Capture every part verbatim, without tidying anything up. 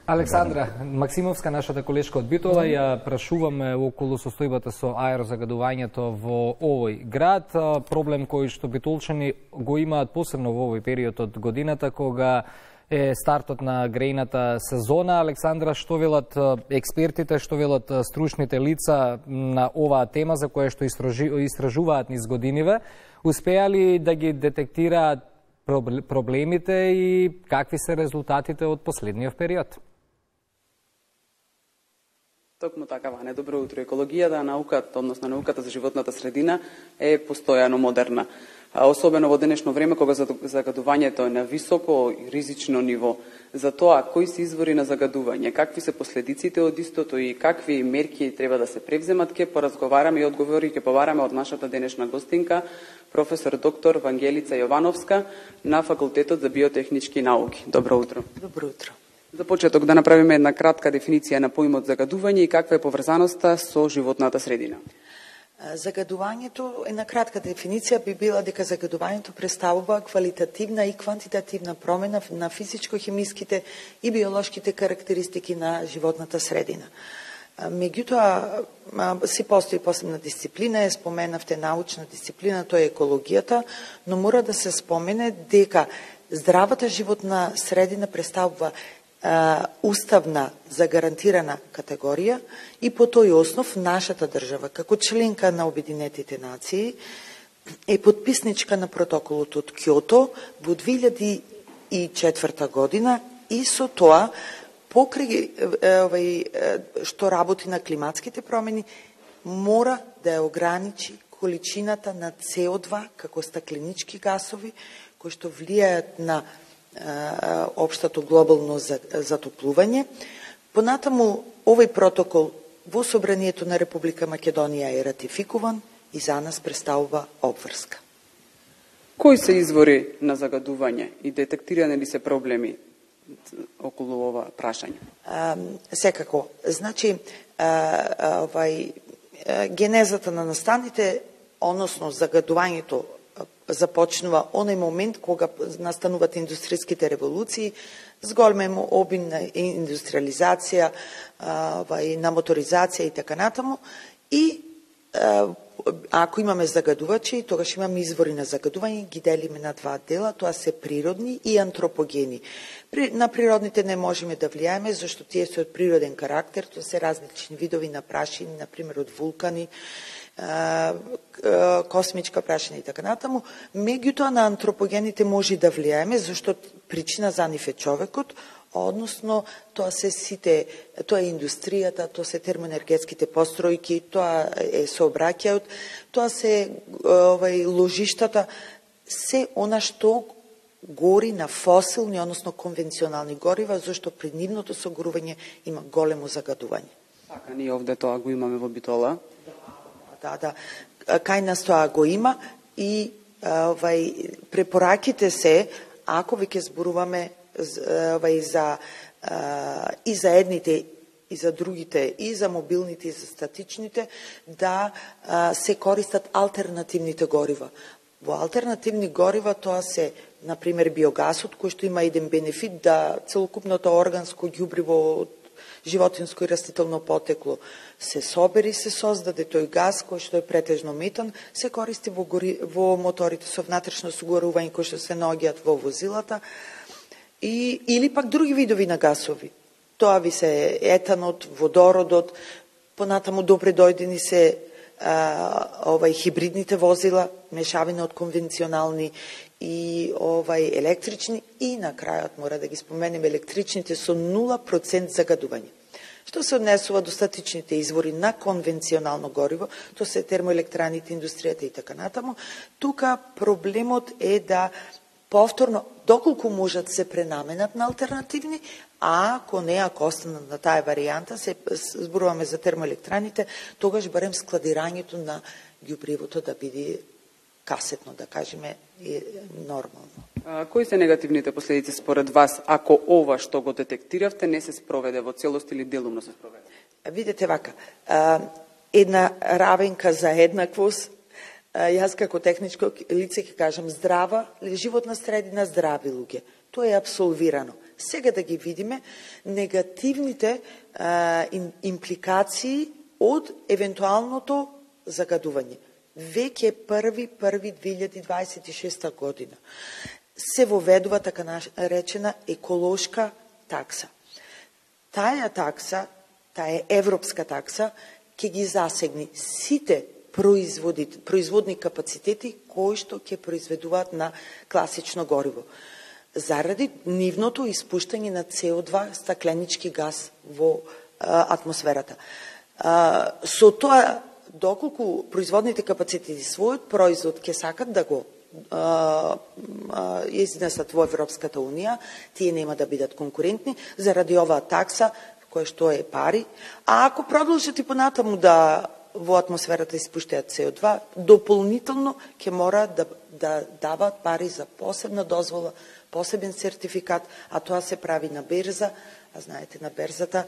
Александра Максимовска, нашата колешка од Битола, ја прашуваме околу состојбата со аерозагадувањето во овој град. Проблем кој што битолчани го имаат посебно во овој период од годината, кога е стартот на грејната сезона. Александра, што велат експертите, што велат стручните лица на оваа тема за која што истражуваат низ годиниве? Успеа ли да ги детектираат проблемите и какви се резултатите од последниот период? Токму така, Ване, добро утро. Екологијата, науката, односно науката за животната средина е постојано модерна. А особено во денешно време, кога загадувањето е на високо и ризично ниво. За тоа, кои се извори на загадување, какви се последиците од истото и какви мерки треба да се превземат, ке поразговараме и одговори ке побараме од нашата денешна гостинка, професор доктор Вангелица Јовановска на Факултетот за биотехнички науки. Добро утро. Добро утро. За почеток да направиме една кратка дефиниција на поимот загадување и каква е поврзаноста со животната средина. Загадувањето, една кратка дефиниција би била дека загадувањето представува квалитативна и квантитативна промена на физичко-хемиските и биолошките карактеристики на животната средина. Меѓутоа, си постои посебна дисциплина, е споменавте научна дисциплина, тоа е екологијата, но мора да се спомене дека здравата животна средина представува уставна загарантирана категорија и по тој основ нашата држава, како членка на Обединетите нации, е подписничка на протоколот од Кјото во две илјади и четврта година и со тоа покрај што работи на климатските промени мора да ја ограничи количината на С О два како стакленички гасови кои што влијаат на општото глобално затоплување. Понатаму, овој протокол во Собранието на Република Македонија е ратификуван и за нас представува обврска. Кои се извори на загадување и детектирани ли се проблеми околу ова прашање? А, секако. Значи, а, овај, генезата на настаните, односно загадувањето, започнува оној момент кога настануваат индустријските револуции, зголем обим на индустриализација, на моторизација и така натаму. И ако имаме загадувачи, тогаш имаме извори на загадување, ги делиме на два дела, тоа се природни и антропогени. На природните не можеме да влијаеме, зашто тие се од природен карактер, тоа се различни видови на прашини, например од вулкани, космичка прашина и така натаму. Меѓутоа на антропогените може да влијаеме, зашто причина за нив е човекот, односно тоа се сите, тоа е индустријата, тоа се термоенергетските постројки, тоа е сообраќајот, тоа се овај ложиштата, се она што гори на фосилни, односно конвенционални горива, зашто при нивното согорување има големо загадување. Така, ние овде тоа го имаме во Битола. Да, да. Кај нас тоа го има и овај препораките се, ако веќе зборуваме овај за и за едните и за другите, и за мобилните и за статичните, да се користат алтернативните горива. Во алтернативни горива тоа се, например, биогасот, кој што има еден бенефит да целокупното органско ѓубриво од животинско и растително потекло се собери, се создаде тој газ кој што е претежно метан, се користи во, гори, во моторите со внатрешно согорување кои што се наоѓаат во возилата, и, или пак други видови на гасови. Тоа ви се етанот, водородот, понатаму добре дојдени се а, овај хибридните возила, мешавина од конвенционални и овај електрични, и на крајот мора да ги споменеме електричните со нула проценти загадување. Што се однесува до статичните извори на конвенционално гориво, тоа се термоелектраните, индустријата и така натаму, тука проблемот е да повторно, доколку можат се пренаменат на алтернативни, а ако не, ако останат на таа варијанта, се зборуваме за термоелектраните, тогаш барем складирањето на ѓубривото да биде касетно, да кажеме, е нормално. А, кои се негативните последици според вас, ако ова што го детектиравте не се спроведе во целост или делумно се спроведе? Видете вака, а, една равенка за еднаквост, а, јас како техничко лице ќе кажам здрава, животна средина, здрави луѓе. Тоа е абсолвирано. Сега да ги видиме негативните а, импликации од евентуалното загадување. Веќе први први две илјади дваесет и шеста година се воведува така наречена еколошка такса. Таја такса, таа европска такса, ќе ги засегни сите производи, производни капацитети кои што ќе произведуваат на класично гориво, заради нивното испуштање на С О два, стакленички газ во а, атмосферата. А, со тоа, доколку производните капацитети својот производ ќе сакат да го а, а, изнесат во Европската Унија, тие нема да бидат конкурентни заради оваа такса, која што е пари. А ако продолжат и понатаму да во атмосферата испуштаат С О два, дополнително ќе мора да, да дават пари за посебна дозвола, посебен сертификат, а тоа се прави на берза, а знаете, на берзата,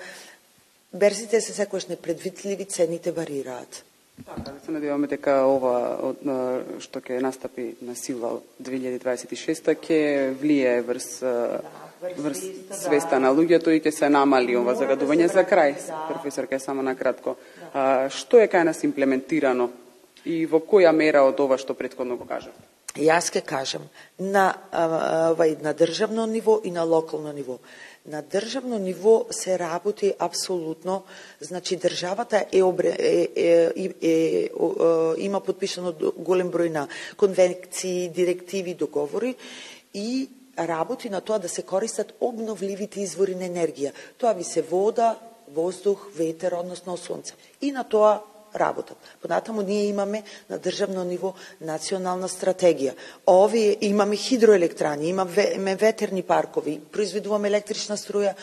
берзите се секојаш непредвидливи, цените варираат. Така, да се надеваме дека ова што ќе настапи на сила од две илјади дваесет и шеста ќе влијае врз, да, врз свеста на луѓето и ќе се намали ова загадување. За крај, да. Професор, ке само накратко. Да. А, што е кај нас имплементирано и во која мера од ова што претходно го кажав? Јас ке кажам, на, вај, на државно ниво и на локално ниво. На државно ниво се работи апсолутно, значи државата е, е, е, е, е, има подпишано голем број на конвенции, директиви, договори и работи на тоа да се користат обновливите извори на енергија. Тоа ви се вода, воздух, ветер, односно сонце. И на тоа работат. Понатаму ние имаме на државно ниво национална стратегија. Овие имаме хидроелектрани, имаме ветерни паркови, произведуваме електрична струја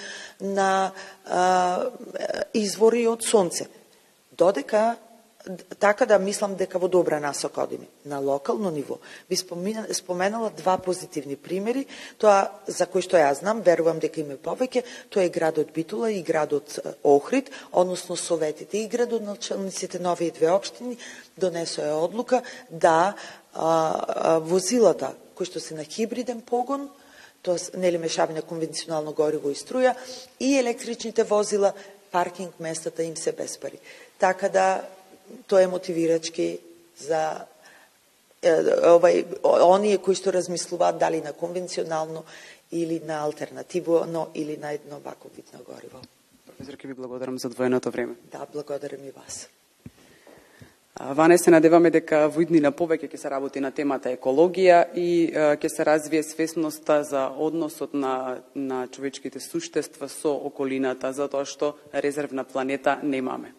на а, извори од сонце. Додека така да мислам дека во добра насока одиме. На локално ниво би споменала два позитивни примери, тоа за кој што ја знам, верувам дека има повеќе, тоа е градот Битола и градот Охрид, односно советите и градоначалниците на овие две општини донесоа одлука да а, а, возилата кои што се на хибриден погон, тоа нели мешавање на конвенционално гориво и струја, и електричните возила, паркинг местата им се без пари. Така да тоа е мотивирачки за е, овај, оние кои што размислуваат дали на конвенционално или на алтернативно или на едно ваков вид на гориво. Професор, ке ви благодарам за двоеното време. Да, благодарам и вас. Ване се надеваме дека во иднина повеќе ќе се работи на темата екологија и ќе се развие свесноста за односот на, на човечките суштества со околината, затоа што резервна планета немаме.